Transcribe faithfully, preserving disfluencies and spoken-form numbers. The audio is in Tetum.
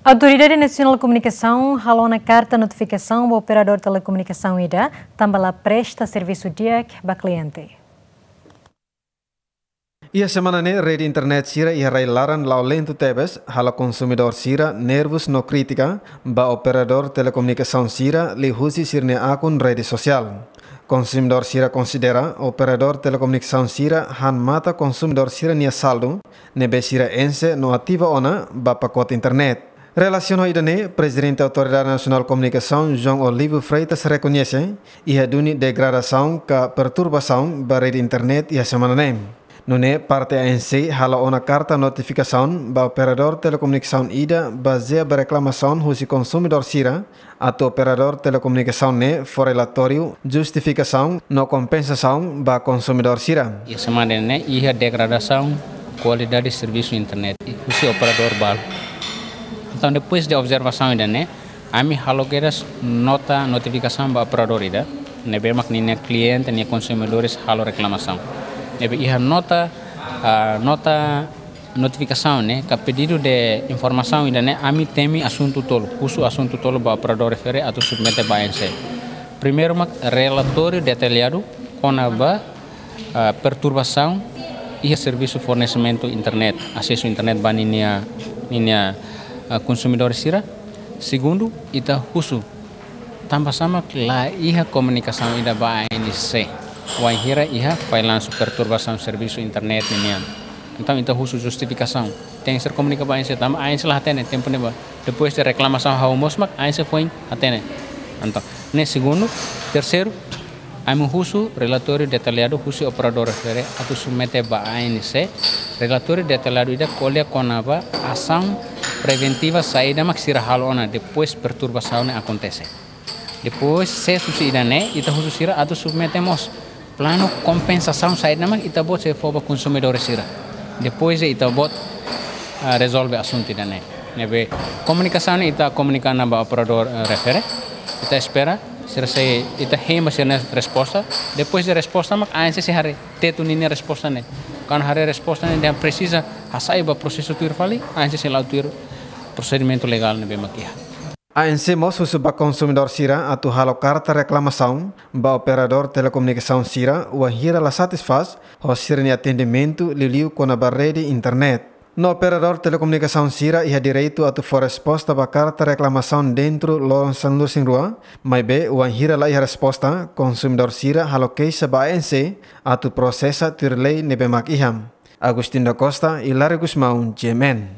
Autoridade Nasionál Komunikasaun halo ona karta notifikasaun ba operadór telekomunikasaun ida, tanba la presta servisu di'ak ba kliente. Iha semana ne'e, rede internet sira iha rai-laran la'o lentu tebes, halo konsumidór sira nervus no kritika ba operadór telekomunikasaun sira liuhusi sira-nia akun rede sosiál. Konsumidór sira konsidera operadór telekomunikasaun sira han mata konsumidór sira-nia saldu ne'ebé sira enxe no ativa ona ba pakote internet. Relasiona ho ida-ne'e, Prezidente Autoridade Nasionál Komunikasaun, João Olivo Freitas, rekoñese iha duni degradasaun ka perturbasaun ba rede internet iha semana ne'e. Nune'e, parte A N C halo ona karta notifikasaun ba operadór telekomunikasaun ida bazeia ba reklamasaun husi konsumidór sira, atu operadór telekomunikasaun ne'e fó relatóriu, justifikasaun no kompensasaun ba konsumidór sira. Iha semana ne'e iha degradasaun kualidade servisu internet husi operadór balu. Entaun, depois de observasaun ida-ne'e, ami halo kedas nota notifikasaun ba operadór ida ne'ebé mak ninia kliente, nia konsumidores halo reklamasaun. Ne'ebé iha nota, ah, nota notifikasaun ne'e, ka pedidu de informasaun ida-ne'e, ami temi asuntu tolu, husu asuntu tolu ba operadór refere atu submete ba A N C. Primeiru mak relatóriu detalladu kona-ba, ah, perturbasaun iha servisu fornesimentu internet, asesu internet ba ninia, ninia, ah, konsumidór sira. Segundu, ita husu tanba sá mak la iha komunikasaun ida ba A N C wainhira iha fallansu, perturbasaun servisu internet ninian. Entaun, ita husu justifikasaun. Tenke ser komunika ba A N C, tanba A N C la hatene tempu ne'ebá. Depois de reklamasaun hahú mós mak A N C foin hatene. Entaun, ne'e segundu. Terseiru, ami husu relatóriu detalladu husi operadór refere atu submete ba A N C. Relatóriu detalladu ida ko'alia kona-ba asaun preventiva saida mak sira halo ona depois perturbasaun ne'e akontese. Depois, sees husi ida-ne'e, ita husu sira atu submete mós planu kompensasaun saida mak ita-boot sei fó ba konsumidores sira. Depois de ita-boot, ah, rezolve asuntu ida-ne'e. Ne'ebé komunikasaun ne'e ita komunika ona ba operadór, eh, refere. Ita espera sira sei, ita hein ba sira-nia resposta. Depois de resposta mak A N C sei haree Tetun ninia resposta ne'e. Kuandu haree resposta ne'e, dehan presiza hasai ba prosesu tuir fali, A N C sei la'o tuir prosedimentu legál ne'ebé mak iha. A N C mós husu ba konsumidór sira atu halo karta reklamasaun ba operadór telekomunikasaun sira wainhira la satisfás ho sira-nia atendimentu liuliu kona-ba rede internet. No operadór telekomunikasaun sira iha direitu atu fó resposta ba karta reklamasaun dentru loron sanulu-resin-rua, maibé wainhira la iha resposta, konsumidór sira halo keixa ba A N C atu prosesa tuir lei ne'ebé mak iha. Agostinho da Costa, Hilário Gusmão, G M N.